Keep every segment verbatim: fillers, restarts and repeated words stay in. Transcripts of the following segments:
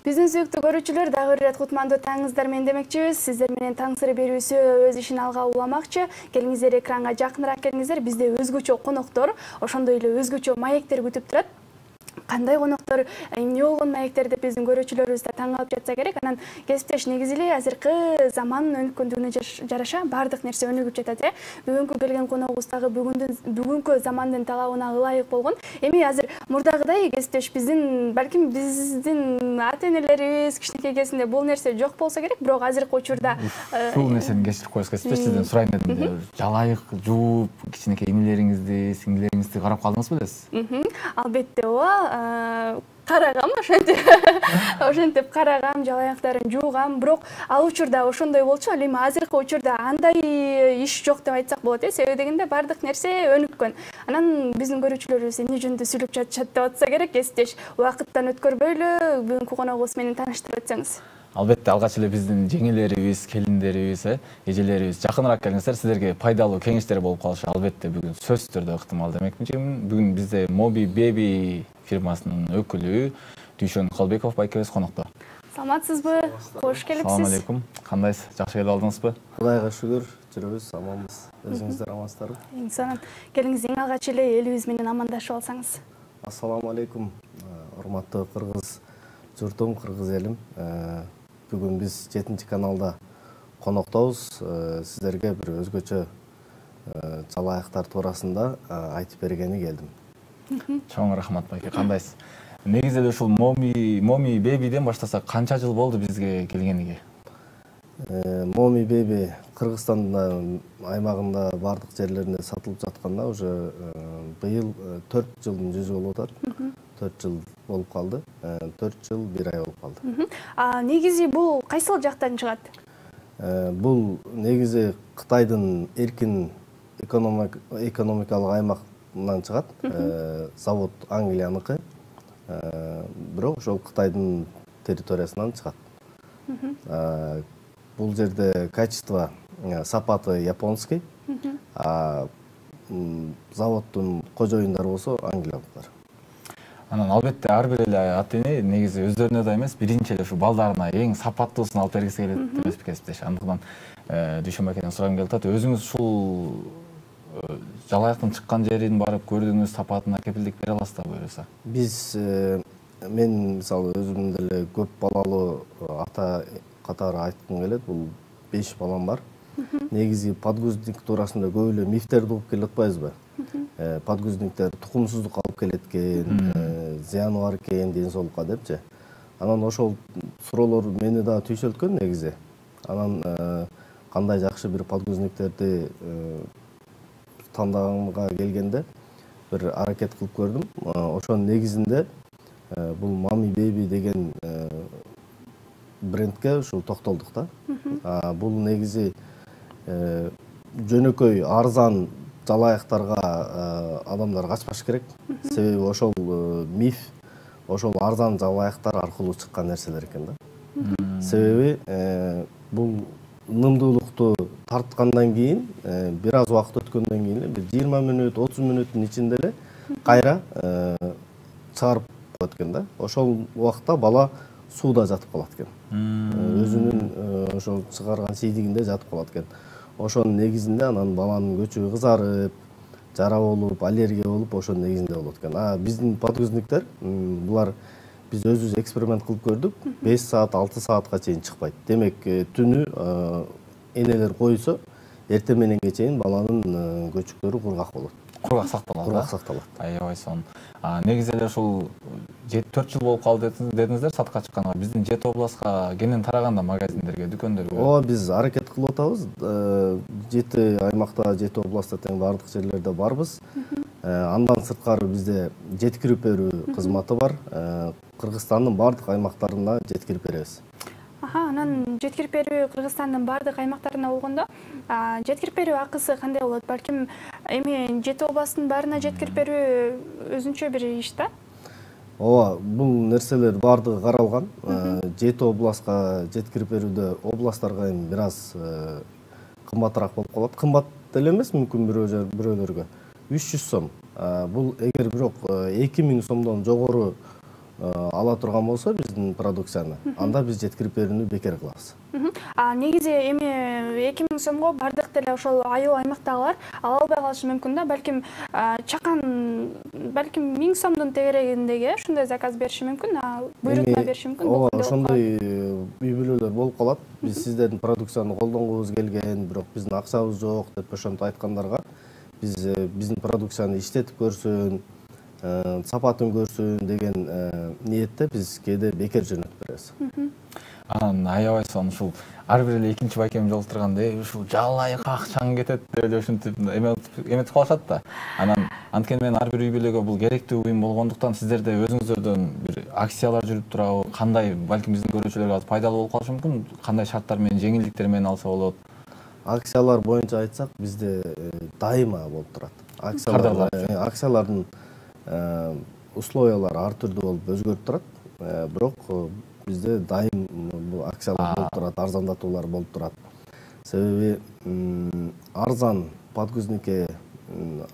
Биздин сүйүктүү көрүүчүлөр, дагы бир ирет кутмандуу таңыңыздар менен демекчибиз. Сиздер менен таң сыры берүүсү өз ишин алга уламакчы. Келиңиздер, экранга жакыныраак келиңиздер. Бизде өзгөчө коноктор, ошондой эле өзгөчө маектер күтүп турат. Кандай коноктор, эмне болгон маектер деп биздин көрүүчүлөрүбүз да таң калып жатса керек. Анан кесиптеш негизи эле азыркы заман өнүккөндүгүнө жараша баардык нерсе өнүгүп жатат э. Бүгүнкү келген коногубуз дагы бүгүндүн бүгүнкү замандын талабына ылайык болгон. Эми азыр мурдагыдай кесиптеш биздин, балким биздин ата-энелерибиз кичинекей кезинде бул нерсе жок болсо керек, бирок азыркы учурда ушул нерсени кечирип коесуз, кесиптеш, сизден сурайын дедим. Жалайык жууп, кичинекей инилериңизди, сиңдилериңизди карап калдыңызбы десиз? Албетте ооба. Карагам, ошентип ошентип карагам, жалаяктарын жуугам, бирок ал учурда ошондой болчу, ал эми азыркы учурда андай иш жок деп айтсак болот э. Себеби дегенде баардык нерсе өнүккөн. Анан биздин көрүүчүлөрүбүз эмне жөнүндө сүйлөп жатышат деп атса керек, кесиптеш. Убакыттан өткөрбөйлү бүгүнкү коногубуз менен тааныштырып өтсөңүз. Албетте, алгач эле биздин жеңелерибиз, келиндерибиз, э, эжелерибиз жакыныраак келиңиздер, силерге пайдалуу кеңештер болуп калышы албетте бүгүн сөзсүз түрдө ыктымал демекминчимин. Бүгүн бизде Mobi Baby фирмасынын өкүлү Дүйшөн Калбеков байкебиз конокто. Саламатсызбы? Кош келипсиз. Салам алейкум. Кандайсыз? Жакшы келип алдыңызбы? Кудайга шүгүр, жүрөбүз, аманбыз. Өзүңүздөр амансыздарбы? Эң сонун. Келиңиз, эң алгач эле элибиз менен амандашып алсаңыз. Ассаламу алейкум. Урматтуу кыргыз журтум, кыргыз элим. Бүгүн биз жетинчи каналда коноктобуз. Сиздерге бир өзгөчө жалаяктар туурасында айтып бергени келдим. Чоң рахмат байке, кандайсыз? Негизи эле ушул Mobi Mobi Babyден баштасак, канча жыл болду бизге келгениге? Mobi Baby Кыргызстандын аймагында бардык жерлеринде сатылып жатканда уже быйыл төрт жылдын жүзү болуп атат. төрт жыл болуп калды. төрт жыл бир ай болуп калды. А негизи бул кайсыл жактан чыгат? Бул негизи Кытайдын эркин экономикалык аймагынан чыгат. Завод Англияныкы. Бирок ошол Кытайдын территориясынан чыгат. Бул жерде качество, сапаты японский, а заводдун кожоюндары болсо англиялыктар. Анан албетте ар бир эле ата-эне негизи өздөрүнө да эмес, биринчи эле ушу балдарына эң сапаттуусун алып бергиси келет эмеспи кесиптеш. Андыктан Дүйшөн байкеден сурагым келип атат. Өзүңүз ушул жалаяктын чыккан жерин барып көрдүңүз, сапатына кепилдик бере аласызбы буюрса? Биз мен мисалы өзүм деле көп балалуу ата катары айткым келет. Бул беш балам бар. Негизи подгузник туурасында көп эле мифтерди угуп келе атпайбызбы? Подгузниктер тукумсуздук алып келет экен, зыяны бар экен ден соолукка депчи. Анан ошол суроолор мени да түйшөлткөн негизи. Анан кандай жакшы бир подгузниктерди тандаганга келгенде бир аракет кылып көрдүм. Ошонун негизинде бул Mobi Baby деген брендке ушул токтолдук да. Бул негизи жөнөкөй арзан жалаяктарга адамдар качпаш керек. Себеби ошол миф, ошол арзан жалаяктар аркылуу чыккан нерселер экен да. Себеби бул ынымдуулукту тарткандан кийин, бир аз убакыт өткөндөн кийин, бир жыйырма мүнөт, отуз мүнөттүн ичинде эле кайра чыгарып коет экен да. Ошол убакта бала сууда жатып калат экен. Өзүнүн ошол чыгарган сийдигинде жатып калат экен. Ошонун негизинде анан баланын көчүгү кызарып, жара болуп, аллергия болуп, ошонун негизинде болот экен. А биздин подгузниктер, булар биз өзүбүз эксперимент кылып көрдүк. беш саат, алты саатка чейин чыкпайт. Демек, түнү энелер койсо, эртең мененге чейин баланын көчүктөрү кургак болот. Кургак сакталат. Кургак сакталат. Аябай сонун. Негизи эле ушул төрт жыл болуп калды дедиңиздер сатка чыкканга. Биздин Жети областка кенен тараганда магазиндерге, дүкөндөргө. Ооба, биз аракет кылып атабыз. Жети аймакта, Жети областта тең бардык жерлерде барбыз. Андан сырткары бизде жеткирип берүү кызматы бар. Кыргызстандын бардык аймактарына жеткирип беребиз. Аха, анан жеткирип берүү Кыргызстандын бардык аймактарына болгондо, жеткирип берүү акысы кандай болот? Балким эми Жети областтын баарына жеткирип берүү өзүнчө бир иш да? Ооба, бул нерселер бардыгы каралган. Жети областка жеткирип берүүдө областтарга эми бир аз кымбатыраак болуп калат. Кымбат деле эмес, мүмкүн бирөөлөргө үч жүз сом. Бул эгер бирок эки миң сомдон жогору ала турган болсо биздин продукцияны, анда биз жеткирип берүүнү бекер кылабыз. А негизи эми эки миң сомго бардык деле ошол айыл аймактагылар ала албай калышы мүмкүн да. Балким чакан балким миң сомдун тегерегиндеги ушундай заказ бериши мүмкүн, буйрутма бериши мүмкүн. Ооба, ошондой үй бүлөлөр болуп калат. Биз сиздердин продукцияны колдонгубуз келген, бирок биздин акчабыз жок деп ошентип айткандарга биз биздин продукцияны иштетип көрсүн, сапатын көрсүн деген ниетте биз кээде бекер жөнөтүп беребиз. Анан аябай сонун ушул ар бир эле экинчи байкем жолуктурганда ушул жалай какчаң кетет деп эле ушинтип эметип калышат да. Анан анткени мен ар бир үй бүлөгө бул керектүү буюм болгондуктан сиздерде өзүңүздөрдөн бир акциялар жүрүп турабы, кандай балким биздин көрүүчүлөргө пайдалуу болуп калышы мүмкүн, кандай шарттар менен, жеңилдиктер менен алса болот? Акциялар боюнча айтсак, бизде дайыма болуп турат. Акциялар акциялардын условиялары ар түрдүү болуп өзгөрүп турат. Бирок бизде дайым бул акциялар болуп турат, арзандатуулар болуп турат. Себеби арзан подгузникке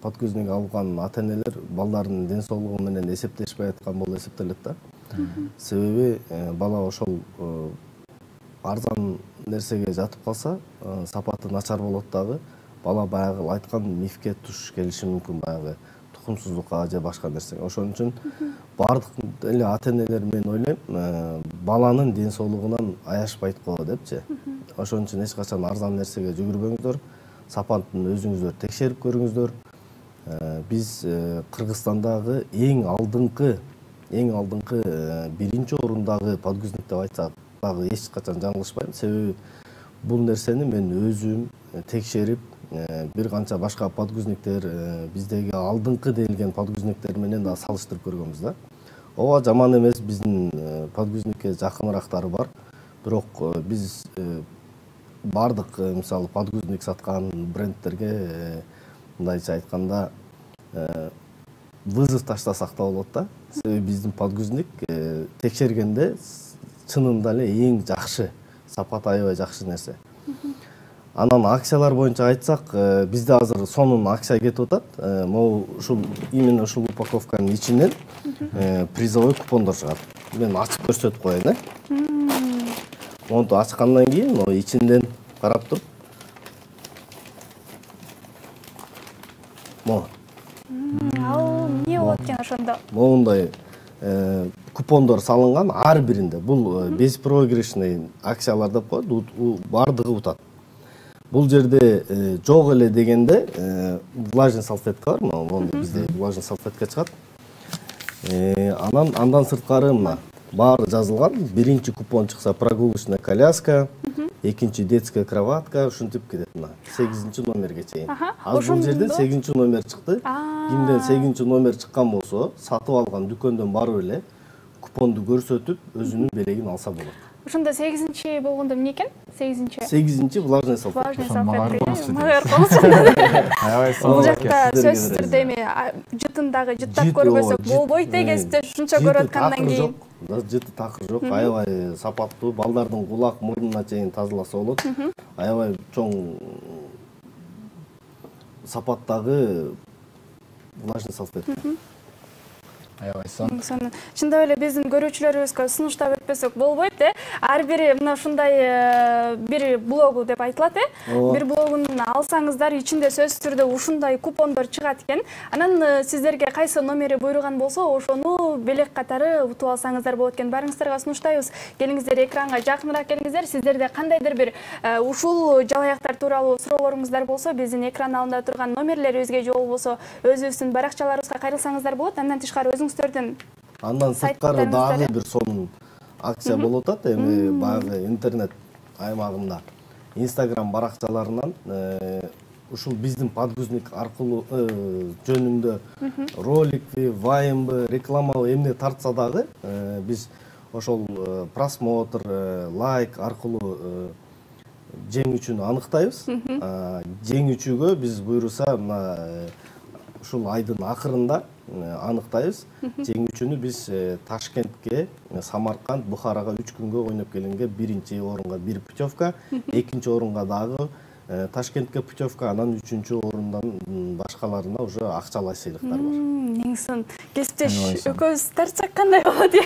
подгузник алган ата-энелер балдарынын ден соолугу менен эсептешпей аткан болуп эсептелет да. Себеби бала ошол арзан нерсеге жатып калса, сапаты начар болот дагы, бала баягы айткан мифке туш келиши мүмкүн, баягы тукумсуздукка же башка нерсеге. Ошон үчүн бардык эле ата-энелер мен ойлойм, баланын ден соолугунан аяшпайт го депчи. Ошон үчүн эч качан арзан нерсеге жүгүрбөңүздөр, сапатын өзүңүздөр текшерип көрүңүздөр. Биз Кыргызстандагы эң алдыңкы, эң алдыңкы биринчи орундагы подгузник деп айтсак дагы эч качан жаңылышпайм. Себеби бул нерсени мен өзүм текшерип, бир канча башка подгузниктер, биздеги алдыңкы делген подгузниктер менен да салыштырып көргөнбүз да. Ооба, жаман эмес, биздин подгузникке жакынырактары бар. Бирок биз бардык мисалы подгузник саткан брендтерге мындайча айтканда вызов таштасак да болот да. Себеби биздин подгузник текшергенде чынында эле эң жакшы, сапаты аябай жакшы нерсе. Анан акциялар боюнча айтсак, бизде азыр сонун акция кетип атат. Могу ушул именно ушул упаковканын ичинен призовой купондор чыгат. Мен ачып көрсөтүп коеюн, э. Монту ачкандан кийин, могу ичинден карап туруп. Могу. Ал эмне болот экен ошондо? Могундай купондор салынган ар биринде. Бул беспроигрышный акциялар деп коет, бардыгы утат. Бул жерде жок эле дегенде влажный салфетка бар, могу бизде влажный салфетка чыгат. Анан андан сырткары мына баары жазылган. Биринчи купон чыкса прогулочная коляска, экинчи детская кроватка, ушинтип кетет мына сегизинчи номерге чейин. Азыр бул жерден сегизинчи номер чыкты. Кимден сегизинчи номер чыккан болсо, сатып алган дүкөндөн барып эле купонду көрсөтүп, өзүнүн белегин алса болот. Ошондо сегизинчи болгондо эмне экен? сегизинчи. сегизинчи влажный салфетка. Влажный салфетка. Аябай Бул жакта сөзсүз түрдө эми жытындагы жыттап көрбөсөк болбойт экенсиз, ушунча көрүп аткандан кийин. Жыты такыр жок, аябай сапаттуу, балдардын кулак мурдуна чейин тазаласа болот. Аябай чоң сапаттагы влажный салфетка. Аябай сонун. Чындап эле биздин көрүүчүлөрүбүзгө сунуштап өтпөсөк болбойт, э. Ар бири мына ушундай бир блогу деп айтылат, э. Бир блогун алсаңыздар, ичинде сөзсүз түрдө ушундай купондор чыгат экен. Анан сиздерге кайсы номери буйруган болсо, ошону белек катары утуп алсаңыздар болот экен. Барыңыздарга сунуштайбыз. Келиңиздер, экранга жакыныраак келиңиздер. Сиздерде кандайдыр бир ушул жалаяктар тууралуу суроолоруңуздар болсо, биздин экран алдында турган номерлерибизге же болбосо өзүбүздүн баракчаларыбызга кайрылсаңыздар болот. Андан тышкары Андан сырткары дагы бир сонун акция болуп атат. Эми баягы интернет аймагында Instagram баракчаларынан ушул биздин подгузник аркылуу жөнүндө роликти, ваймбы, рекламабы эмне тартса дагы биз ошол просмотр, лайк аркылуу жеңүүчүнү аныктайбыз. Жеңүүчүгө биз буйруса мына ушул айдын акырында аныктайбыз. Жеңүүчүнү биз Ташкентке, Самарканд, Бухарага үч күнгө ойноп келгенге биринчи орунга бир путевка, экинчи орунга дагы Ташкентке путевка, анан үчүнчү орундан башкаларына уже акчалай сыйлыктар бар. Негизин кесиптеш экөөбүз тартсак кандай болот?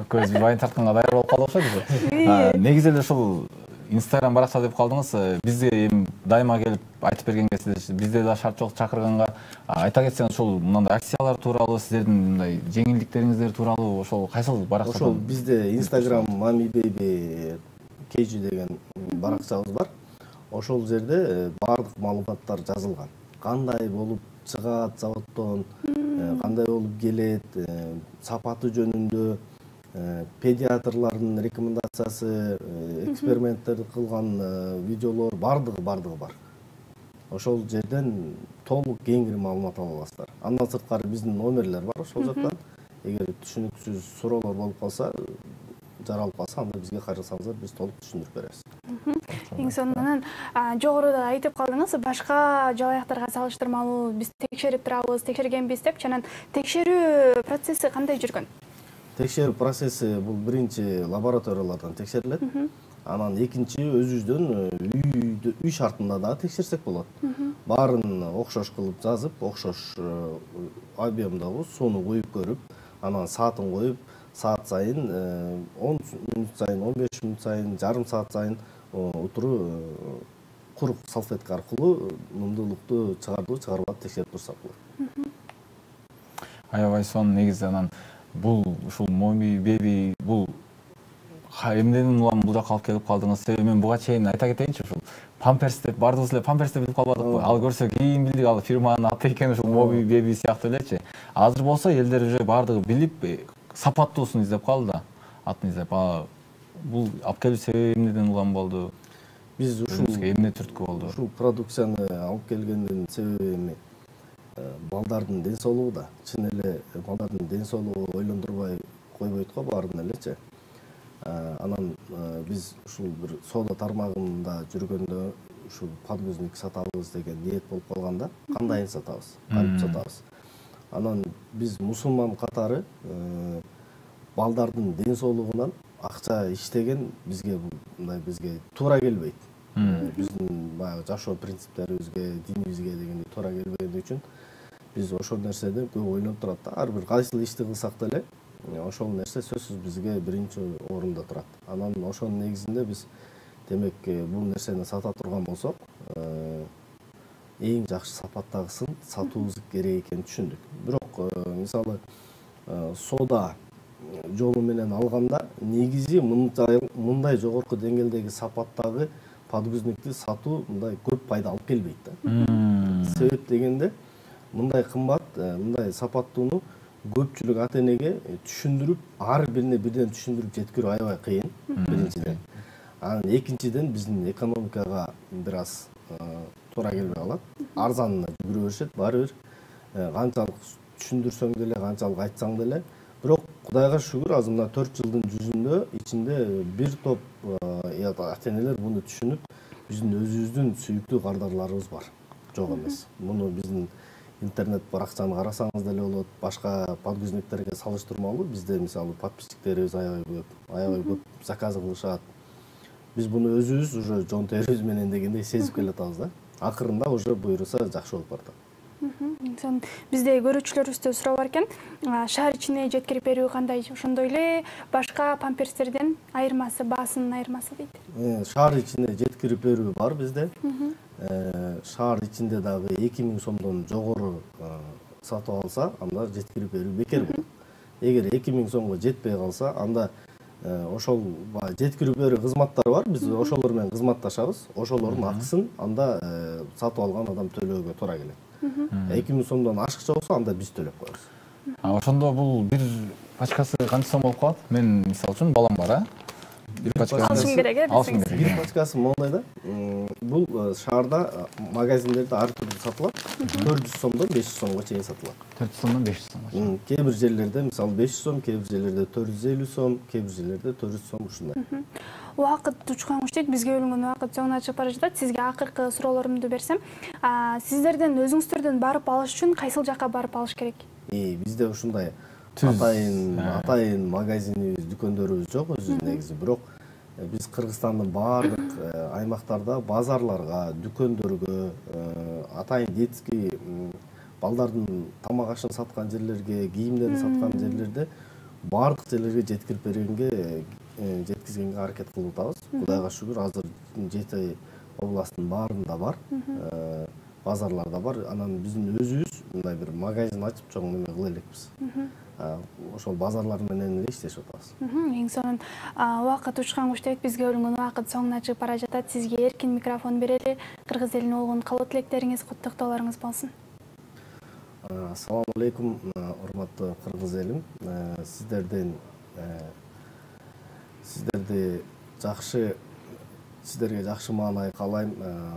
Экөөбүз вайн тартканга даяр болуп калып окшойбуз. Негизи эле ушул Инстаграм баракча деп калдыңыз. Бизге эми дайыма келип айтып берген кезде бизде да шарт жок чакырганга айта кетсеңиз ушул мындай акциялар тууралуу, сиздердин мындай жеңилдиктериңиздер тууралуу ошол кайсыл баракча? Ошол бизде Instagram Mommy Baby Кейжи деген баракчабыз бар. Ошол жерде баардык маалыматтар жазылган. Кандай болуп чыгат заводдон, кандай болуп келет, сапаты жөнүндө, педиатрлардын рекомендациясы, эксперименттер кылган видеолор баардыгы баардыгы бар. Ошол жерден толук кеңири маалымат ала аласыздар. Андан сырткары биздин номерлер бар ошол жактан. Эгер түшүнүксүз суроолор болуп калса, жаралып калса, анда бизге кайрылсаңыздар, биз толук түшүндүрүп беребиз. Эң сонунан жогоруда айтып калдыңыз, башка жалаяктарга салыштырмалуу биз текшерип турабыз, текшергенбиз деп. Жанагы текшерүү процесси кандай жүргөн? Текшерүү процесси бул биринчи лабораториялардан текшерилет. Анан экинчи өзүбүздөн үй үй шартында дагы текшерсек болот. Баарын окшош кылып жазып, окшош объемдогу сууну куюп көрүп, анан саатын коюп, саат сайын он мүнөт сайын, он беш мүнөт сайын, жарым саат сайын утуру курук салфетка аркылуу нымдуулукту чыгардыбы, чыгарбады текшерип турсак болот. Аябай сонун. Негизи анан бул ушул Mommy Baby бул эмнеден улам бул жакка алып келип калдыңыз? Себеби мен буга чейин айта кетейинчи, ушул памперс деп баардыгыбыз эле памперс деп билип калбадыкпы? Ал көрсө кийин билдик, ал фирманын аты экен, ушул Mommy Baby сыяктуу элечи. Азыр болсо элдер уже баардыгы билип, сапаттуусун издеп калды да, атын издеп. Бул алып келүү себеби эмнеден улам болду? Биз ушул эмне түрткү болду? Ушул продукцияны алып келгендин себеби эми балдардын ден соолугу да. Чын эле балдардын ден соолугу ойлондурбай койбойт го баарын элечи. Анан биз ушул бир соода тармагында жүргөндө ушул подгузник сатабыз деген ниет болуп калганда, кандайын сатабыз, кантип сатабыз. Анан биз мусулман катары балдардын ден соолугунан акча иштеген бизге мындай бизге туура келбейт. Биздин баягы жашоо принциптерибизге, динибизге дегенде туура келбегени үчүн биз ошол нерседен көп ойлонуп турат да. Ар бир кайсыл ишти кылсак деле ошол нерсе сөзсүз бизге биринчи орунда турат. Анан ошонун негизинде биз демек бул нерсени сата турган болсок, эң жакшы сапаттагысын сатуубуз керек экенин түшүндүк. Бирок мисалы соода жолу менен алганда негизи мындай жогорку деңгээлдеги сапаттагы подгузникти сатуу мындай көп пайда алып келбейт да. Себеп дегенде мындай кымбат, мындай сапаттууну көпчүлүк ата энеге түшүндүрүп, ар бирине бирден түшүндүрүп жеткирүү аябай кыйын, биринчиден. Анан экинчиден биздин экономикага бир аз туура келбей калат. Арзанына жүгүрө беришет, баары бир канчалык түшүндүрсөң деле, канчалык айтсаң деле. Бирок Кудайга шүгүр, азыр мына төрт жылдын жүзүндө ичинде бир топ ата энелер буну түшүнүп, биздин өзүбүздүн сүйүктүү кардарларыбыз бар. Жок эмес. Муну биздин интернет баракчаны карасаңыз деле болот, башка подгузниктерге салыштырмалуу бизде мисалы подписчиктерибиз аябай көп, аябай көп заказ кылышат. Биз буну өзүбүз уже жон терибиз менен дегендей сезип келатабыз да. Акырында уже буйруса жакшы болуп барат. Бизде көрүүчүлөрүбүздөн суроо бар экен. Шаар ичине жеткирип берүү кандай? Ошондой эле башка памперстерден айырмасы, баасынын айырмасы дейт. Шаар ичине жеткирип берүү бар бизде. Шаар ичинде дагы эки миң сомдон жогору сатып алса, анда жеткирип берүү бекер болот. Эгер эки миң сомго жетпей калса, анда ошол жеткирип берүү кызматтары бар. Биз ошолор менен кызматташабыз. Ошолордун акысын анда сатып алган адам төлөөгө туура келет. эки миң сомдон ашыкча болсо, анда биз төлөп коебуз. Ошондо бул бир пачкасы канча сом болуп калат? Мен мисалы үчүн балам бар, а? Бир пачкасы алышым керек, э? Алышым керек. Бир пачкасы моундай да. Бул шаарда магазиндерде ар түрдүү сатылат. төрт жүз сомдон беш жүз сомго чейин сатылат. төрт жүз сомдон беш жүз сомго. Кээ бир жерлерде мисалы беш жүз сом, кээ бир жерлерде төрт жүз элүү сом, кээ бир жерлерде төрт жүз сом ушундай. Убакыт учкан дейт, бизге бөлүнгөн убакыт соңуна чыгып бара жатат. Сизге акыркы суроолорумду берсем, сиздерден өзүңүздөрдөн барып алыш үчүн кайсыл жакка барып алыш керек? Бизде ушундай атайын атайын магазинибиз, дүкөндөрүбүз жок өзү негизи. Бирок Биз Кыргызстандын баардык аймактарда базарларга, дүкөндөргө, атайын детский балдардын тамак ашын саткан жерлерге, кийимдерин саткан жерлерде баардык жерлерге жеткирип бергенге жеткизгенге аракет кылып атабыз. Кудайга шүгүр, азыр жети областтын баарында бар, базарларда бар. Анан биздин өзүбүз мындай бир магазин ачып чоң неме кыла элекпиз. Ошол базарлар менен эле иштешип атабыз. Эң сонун убакыт учкан куштайт, бизге бөлүнгөн убакыт соңуна чыгып бара жатат. Сизге эркин микрофон берели. Кыргыз элине болгон каалоо тилектериңиз, куттуктоолоруңуз болсун. Ассаламу алейкум, урматтуу кыргыз элим. Сиздерден сиздерди жакшы сиздерге жакшы маанай каалайм.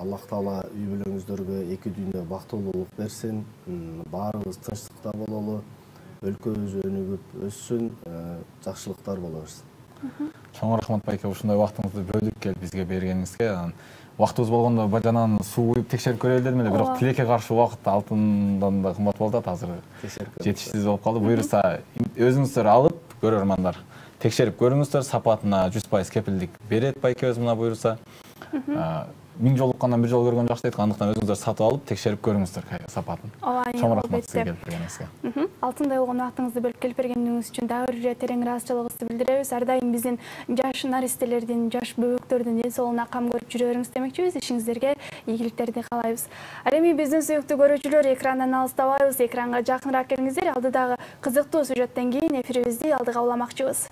Аллах Таала үй бүлөңүздөргө эки дүйнө бактылуулук берсин. Баарыбыз тынчтыкта бололу. Өлкөбүз өнүгүп өссүн, жакшылыктар боло берсин. Чоң рахмат байке, ушундай убактыңызды бөлүп келип бизге бергениңизге. Убактыбыз болгондо бажанан суу куюп текшерип көрөлү дедим эле, бирок тилекке каршы убакыт алтындан да кымбат болуп атат. Азыр жетишсиз болуп калды. Буюрса өзүңүздөр алып, көрөрмандар текшерип көрүңүздөр, сапатына жүз пайыз кепилдик берет байкебиз мына буюрса. Миң жолуккандан бир жолу көргөн жакшы дейт. Андыктан өзүңүздөр сатып алып, текшерип көрүңүздөр сапатын. Чоң рахмат сизге келип бергениңизге. Алтындай болгон убактыңызды бөлүп келип бергениңиз үчүн дагы бир терең ыраазычылыгыбызды билдиребиз. Ар дайым биздин жаш наристелердин, жаш бөбөктөрдүн ден соолугуна кам көрүп жүрө бериңиз демекчибиз. Ишиңиздерге ийгиликтерди каалайбыз. Ал эми биздин сүйүктүү көрүүчүлөр, экрандан алыстабайбыз, экранга жакыныраак келиңиздер. Алдыдагы кызыктуу сюжеттен кийин эфирибизди алдыга уламакчыбыз.